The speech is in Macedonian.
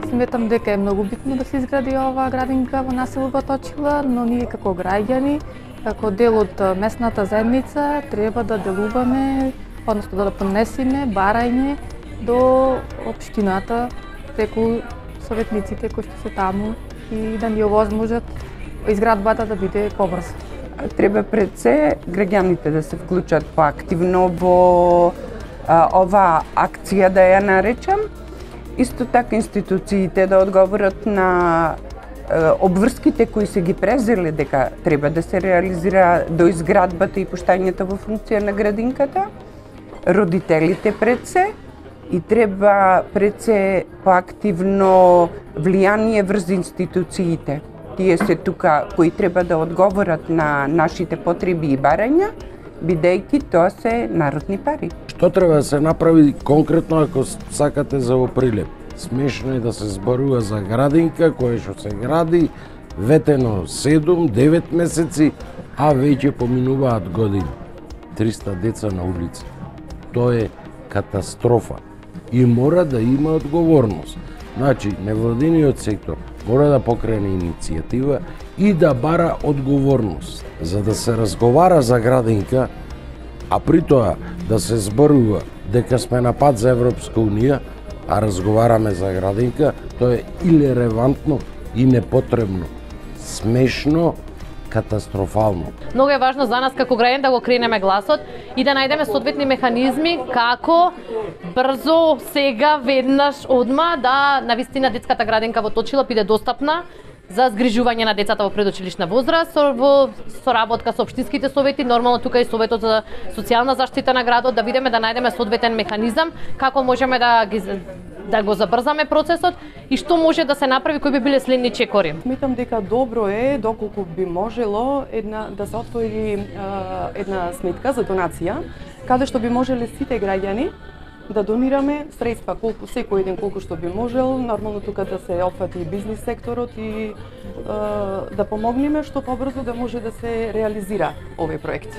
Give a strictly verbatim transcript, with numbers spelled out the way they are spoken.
Сметам дека е многу битно да се изгради оваа градинка во насело Баточила, но ние како граѓани, како дел од местната заедница, треба да делуваме, односно да понесеме барање до општината преку советниците кои што се таму и да ни овозможат изградбата да биде побрза. Треба пред се граѓаните да се вклучат поактивно во а, оваа акција, да ја наречам. Исто така институциите да одговорат на а, обврските кои се ги презели дека треба да се реализира до изградбата и пуштањето во функција на градинката. Родителите пред се и треба пред се поактивно влијание врз институциите. Тие се тука кои треба да одговорат на нашите потреби и барања, бидејќи тоа се народни пари. Што треба да се направи конкретно ако сакате за во прилеп? Смешно е да се зборува за градинка која што се гради ветено седум девет месеци, а веќе поминуваат години. триста деца на улица. Тоа е катастрофа и мора да има одговорност. Значи, невладиниот сектор мора да покрене иницијатива и да бара одговорност. За да се разговара за градинка, а при тоа да се зборува дека сме на пат за Европска Унија, а разговараме за градинка, тоа е илеревантно и непотребно, смешно, катастрофално. Многу е важно за нас како граѓани да го кренеме гласот и да најдеме соодветни механизми како брзо, сега, веднаш, одма да навистина детската градинка во Точила биде достапна за згрижување на децата во предучилишна возраст во соработка со општинските совети, нормално тука и советот за социјална заштита на градот, да видиме да најдеме соодветен механизам како можеме да ги да го забрзаме процесот и што може да се направи, кои би биле следни чекори. Сметам дека добро е доколку би можело една да се отвори а, една сметка за донација, каде што би можеле сите граѓани да донираме средства, колку секој еден колку што би можел, нормално тука да се опфати бизнис секторот и а, да помогнеме што побрзо да може да се реализира овој проект.